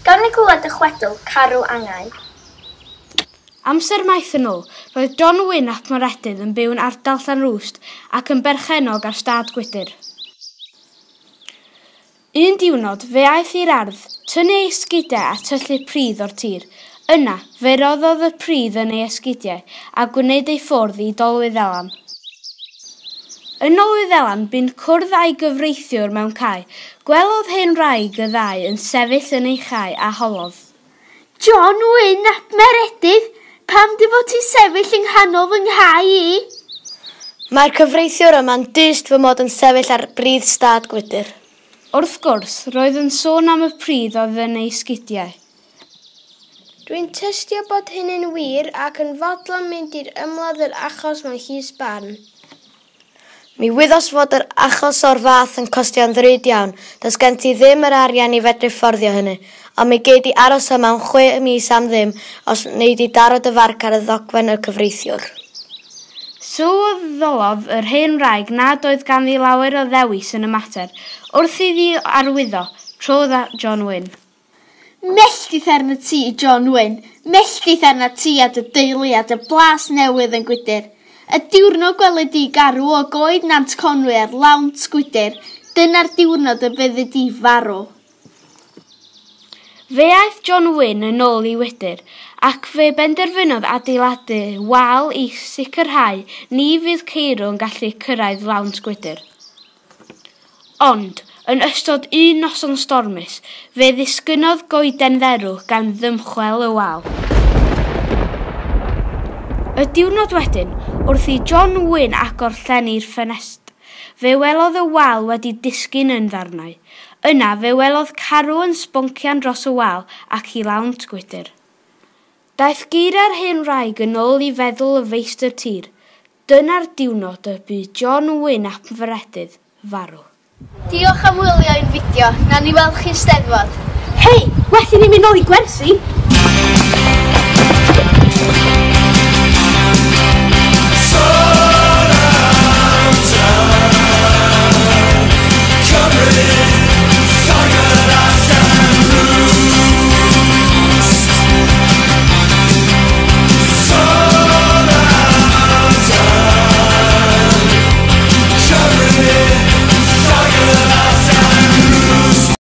Gawn ni glywed y chwedl Carw Angau. Amser maith yn ôl, roedd John Wyn ap Maredudd yn byw yn ardal Llanrwst ac yn berchennog ar stad Gwydyr. Un diwrnod, fe aeth i'r ardd, tynnu ei esgidiau a tyllu pridd o'r tir. Yna, fe roddodd y pridd yn ei esgidiau a gwneud ei ffwrdd i Dolwyddelan. Yn Nolwyddelan, bu'n cwrdd â'i gyfreithiwr mewn cae. Gwelodd hen wraig y ddau yn sefyll yn ei chae a holodd. John Wyn ap Meredydd, pam dy fod ti'n sefyll yng nghanol fy nghae i? Mae'r cyfreithiwr yma'n dyst fy mod yn sefyll ar bridd stad Gwydyr. Wrth gwrs, roedd yn sôn am y pridd oedd yn ei sgidiau. Dwi'n tystio bod hynny'n wir ac yn fodlon mynd i'r ymladd yr achos mewn llys barn. Mi wyddos fod yr achos o'r fath yn costio'n ddrud iawn, does gen ti ddim yr arian i fedru fforddio hynny, ond mi gei di aros yma am 6 mis am ddim os wnei di daro dy farc ar y ddogfen y cyfreithiwr. Sylweddolodd yr hen wraig nad oedd ganddi lawer o ddewis yn y mater, wrth iddi arwyddo, trodd at John Wyn. Melltith arnat ti, John Wyn, melltith arnat ti a dy deulu a dy blas newydd yn Gwydyr. Y diwrnod gweled di garw o goed Nant Conwy ar lawnt Gwydyr, dyna'r diwrnod y byddi di farw. Fe aeth John Wyn yn ôl i Wydyr, ac fe benderfynodd adeiladu wal i sicrhau ni fydd ceirw yn gallu cyrraedd lawnt Gwydyr. Ond, yn ystod un noson stormus, fe ddisgynnodd goeden dderw gan ddymchwel y wal. Y diwrnod wedyn, wrth i John Wyn agor llenni'r ffenest, fe welodd y wal wedi disgyn yn ddarnau. Yna fe welodd carw yn sboncian dros y wal ac i lawnt Gwydyr. Daeth geiriau'r hen wraig yn ôl i feddwl y feistr tir. Dyna'r diwrnod y bu John Wyn ap Meredudd farw. Diolch am wylio ein fideo, nawn ni weld chi'n Steddfod. Hei, well i ni mynd nôl i gwersi!